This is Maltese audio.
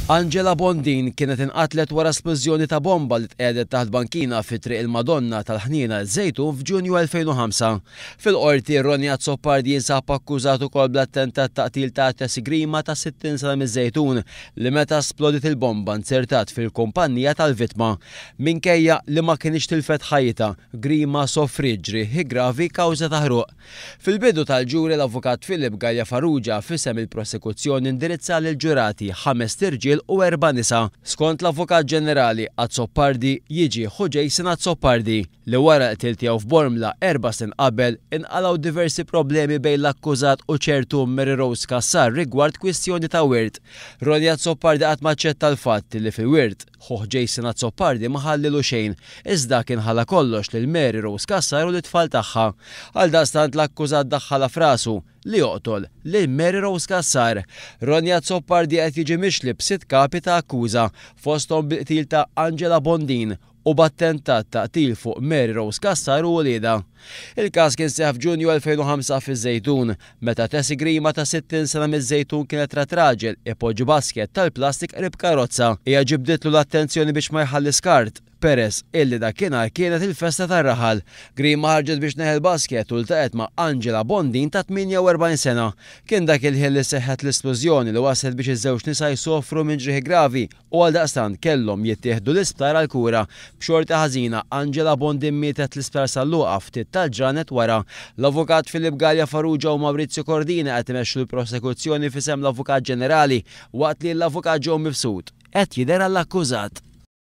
Angela Bondin kienet inqatlet wara splużjoni ta' bomba li tqiegħdet taħt bankina fi Triq il-Madonna tal-Ħniena ż-Żejtun f'Ġunju 2005. Fil-Qorti, Ronnie Azzopardi jinsab akkużat ukoll bl-attentat ta' qtil ta' Tessie Grima ta' 60 sena miż-Żejtun li meta splodiet il-bomba nzertat fil-kumpannija tal-vittma. Minkejja li ma kinitx tilfet ħajjitha, Grima sofriet ġrieħi gravi kawża ta' ħruq. Fil-bidu tal-ġuri l-Avukat Philip Galea Farrugia f'isem il-prosekuzzjoni indirizza lill-ġurati, ħamest irġiel u erba' nisa. Skont l-Avukat Ġenerali, Azzopardi jiġi ħu Jason Azzopardi, li wara l-qtil tiegħu f'Bormla erba' snin qabel, inqalgħu diversi problemi bejn l-akkużat u ċertu Mary Rose Cassar rigward kwistjoni ta' wirt. Ronnie Azzopardi qatt m'aċċetta l-fatt li fil-wirt, Ħuh Jason Azzopardi ma ħallilu xejn, iżda kien ħalla kollox lil Mary Rose Cassar u lit-tfal tagħha. Għaldaqstant l-akkużat daħħalha f'rasu li joqtol lil Mary Rose Cassar. Ronnie Azzopardi qed jiġi mixli b'sitt kapi ta' akkuża, fosthom bil-qtil ta' Angela Bondin u b'attentat ta' qtil fuq Mary Rose Cassar u uliedha. Il-każ kien seħħ f'Ġunju 2005 fiż-Żejtun, meta Tessie Grima ta' 60 sena miż-Żejtun kienet rat raġel ipoġġi basket tal-plastik qrib karozza. Hija ġibditlu l-attenzjoni biex ma jħalli skart, peress illi dakinhar kienet il-festa tar-raħal. Grima ħarġet biex tneħħi l-basket u ltaqgħet ma' Angela Bondin ta' 48 sena. Kien dak il-ħin li seħħet l-isplużjoni li wasslet biex iż-żewġ nisa jsofru minn ġrieħi gravi u għaldaqstant kellhom jittieħdu l-isptar għall-kura. B'xorti ħażina, Angela Bondin mietet l-Isptar San Luqa ftit tal-ġranet wara. L-Avukat Philip Galea Farrugia u Maurizio Cordina qed imexxu l-prosekuzzjoni f'isem l-Avukat Ġenerali waqt li l-Avukat Joe Mifsud qed jidher għall-akkużat.